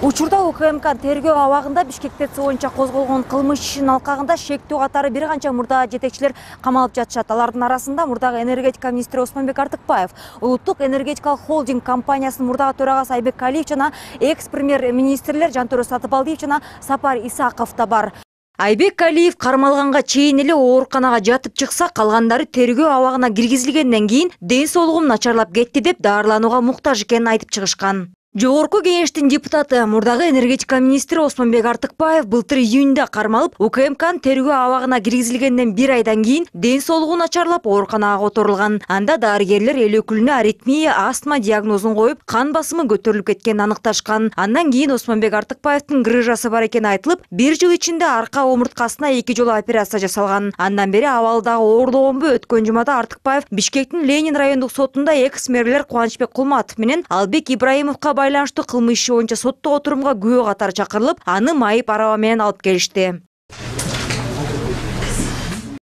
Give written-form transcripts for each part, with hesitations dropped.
Учурда УКМК тергөө абагында Бишкек ТЭЦ боюнча козголгон кылмыш ишинин алкагында шектүү катары бир канча мурда жетекчилер камалып жатышат. Алардын арасында мурдагы энергетика министри Осмонбек Артыкбаев, улуттук энергетикалык холдинг компаниясынын мурдагы төрагасы Айбек Калиев жана экс-премьер-министрлер Жантөрө Сатыбалдиев жана Сапар Исаков да бар. Айбек Калиев кармалганга чейин эле ооруканага жатып чыкса, калгандары тергөө абагына киргизилгенден кийин ден соолугум начарлап кетти деп даарыланууга муктаж экенин айтып чыгышкан. Жогорку кеңештин депутаты, мурдагы энергетика министри Осмонбек Артыкбаев былтыр июнда кармалып, УКМКнын тергөө абагына киргизилгенден бир айдан кийин ден соолугу начарлап ооруканага которулган. Анда дарыгерлер эл өкүлүнө аритмия, астма диагнозун коюп, кан басымы көтөрүлүп кеткенин аныкташкан. Андан кийин Осмонбек Артыкбаевдин грыжасы бар экени айтылып, бир жыл ичинде арка омурткасына 2 жолу операция жасалган. Андан бери абалы дагы оорлогонбу? Өткөн жумада Артыкбаев Бишкектин Ленин райондук сотунда экс-мэрлер Кубанычбек Кулматов менен Албек Ибраимовго байланыштуу кылмыш иши боюнча соттогу отурумга күбө катары чакырылып, аны майып араба менен алып келишти.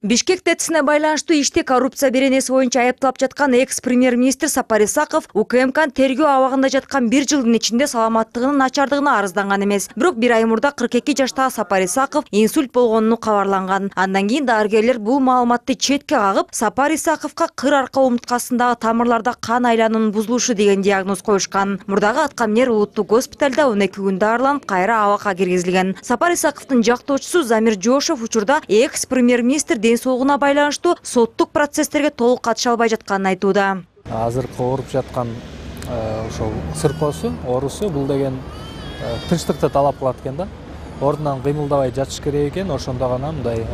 Бишкек ТЭЦине байланыштуу иште коррупция беренеси боюнча айыпталып жаткан экс-премьер-министр Сапар Исаков УКМКнын тергөө абагында жаткан бир жылдын ичинде саламаттыгынын начардыгына арызданган эмес. Бирок бир ай мурда 42 жаштагы Сапар Исаков инсульт болгону кабарланган. Андан кийин дарыгерлер бул маалыматты четке кагып, Сапар Исаковго кыр арка омурткасындагы тамырларда кан айлануунун бузулушу деген диагноз коюшкан. Мурдагы аткаминер улуттук госпиталда 12 күн дарыланып, кайра абакка киргизилген. Сапар Исаковдун жактоочусу Замир Жошов учурда экс-премьер-министр ден соолугуна байланыштуу соттук процесстерге толук катыша албай жатканын айтууда. Азыркы ооруп жаткан ошол сыркоосу, оорусу бул деген тынчтыкты талап кылат экен да. Ордунан кыймылдабай жатыш керек экен, ошондо гана мындай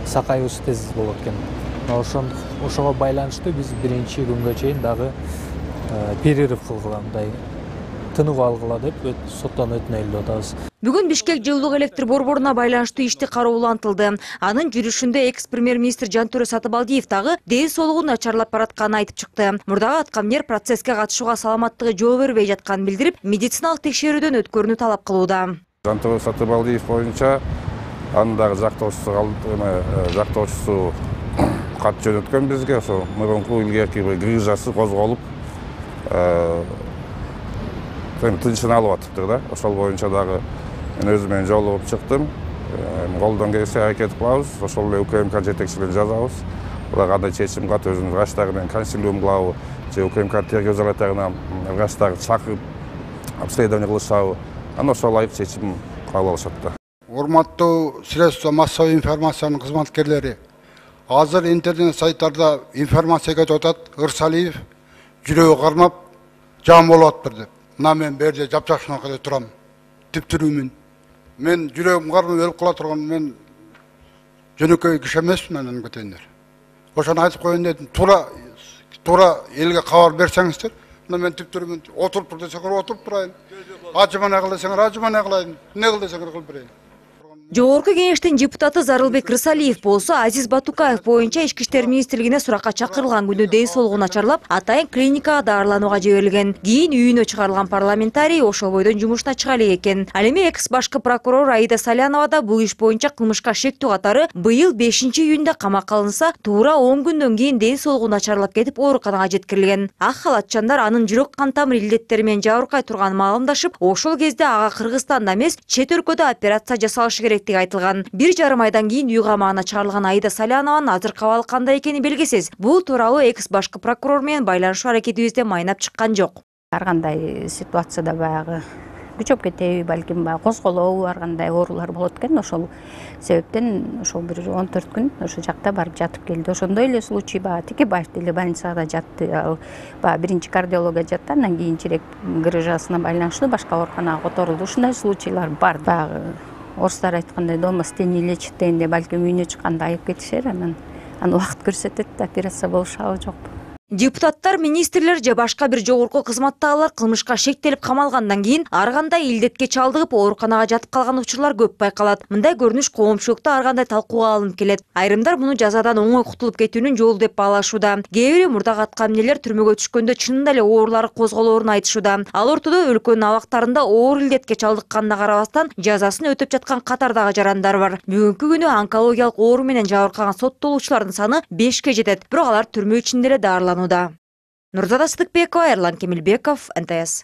сакайыбыз тез болот экен. Ошого байланыштуу биз биринчи күнгө чейин дагы перерыв кылгыла, мындай тынып алгыла деп соттон өтүнөлү деп атабыз. Бүгүн Бишкек жылуулук электр борборуна байланыштуу ишти кароолантылды. Анын жүрүшүндө экс-премьер-министр Жантөрө Сатыбалдиев дагы ден соолугу начарлап баратканын айтып чыкты. Мурдагы аткаминер процесске катышууга саламаттыгы жол бербей жатканын билдирип, медициналык текшерүүдөн өткөрүүнү талап кылууда. Жантөрө Сатыбалдиев боюнча анын дагы жактоочусу кат жөнөткөн бизге, ошо мурунку илгерки грыжасы козголуп, тынчын алып атыптыр да. Ошол боюнча дагы мен өзүм менен жолугуп чыктым. Колдон келсе аракет кылабыз, ошол эле УКМК жетекчилерин жазабыз. Буга кандай чечим кылат, өзүнүн врачтары менен консилиум кылабы, же УКМК тергөө изоляторуна врачтарды чакырып обследование кылышабы. Анан ошол ылайык чечим кабыл алышат да. Урматтуу средства массовой информациянын кызматкерлери, азыр интернет сайттарда информация кетип атат. Ырсалиев жүрөгү кармап жан болуп атыптыр деп. Мына мен бул жерде жапжакшынакыда турам. Типтирүүмүн. Мен жүрөгүм кармап өлүп кала турган, мен жөнөкөй киши эмесмин, анан кетендер. Ошону айтып коеюн дедим. Туура элге кабар берсеңиздер. Мына мен типтирүүмүн. Отуруп тур десеңер отуруп турайын. Ажымана кыл десеңер ажымана кылайын. Не кыл десеңер кылып берейин. Жогорку кеңештин депутаты Зарылбек Рысалиев болсо Азиз Батукаев боюнча Ички иштер министрлигине суракка чакырылган күнү ден соолугу начарлап, атайын клиникага даарыланууга жиберилген. Кийин үйүнө чыгарылган парламентарий ошол бойдон жумушуна чыга элек экен. Ал эми экс башкы прокурор Аида Салянова да бул иш боюнча кылмышка шектүү катары быйыл 5-июнда камакка алынса, туура 10 күндөн кийин ден соолугу начарлап кетип ооруканага жеткирилген. Ак халатчандар анын жүрөк кан тамыр илдеттери менен жабыркай турганын маалымдашып, ошол кезде ага Кыргызстанда эмес, чет өлкөдө операция жасалышы керек айтылган. 1,5 айдан кийин үй камагына чыгарылган Аида Салянованын азыркы абалы кандай экени белгисиз. Бул тууралуу экс башкы прокурор менен байланышуу аракетибизде майнап чыккан жок. Ар кандай ситуацияда баягы күчөп кетеби, балким козголобу, ар кандай оорулар болот экен. Ошол себептен ошол бир 14 күн ошол жакта барып жатып келди. Ошондой эле случай Текебаев деле больницада жатты. Ал биринчи кардиология жатты, андан кийин черек грыжасына байланыштуу башка ооруканага которулду. Ушундай случайлар бар. Орустар айткандай, дома с тени лечит дегенде, балким үйүнө чыкканда айып кетишер, анан убакыт көрсөтөт, операция болушабы жокпу. Депутаттар, министрлер же башка бир жогорку кызматтагылар кылмышка шектелип камалгандан кийин ар кандай илдетке чалдыгып ооруканага жатып калган учурлар көп байкалат. Мындай көрүнүш коомчулукта ар кандай талкууга алынып келет. Айрымдар муну жазадан оңой кутулуп кетүүнүн жолу деп баалашууда. Кээ бири мурдагы аткаминерлер түрмөгө түшкөндө чынында эле оорулары козголоорун айтышууда. Ал ортодо өлкөнүн абактарында оор илдетке чалдыкканына карабастан жазасын өтөп жаткан катардагы жарандар бар. Бүгүнкү күнү онкологиялык оору менен жабыркаган соттолуучулардын саны 5ке жетет. Бирок алар түрмө ичинде эле даарыланууда. Нурзада Сыдыкбекова, Эрлан Кемелбеков, НТС.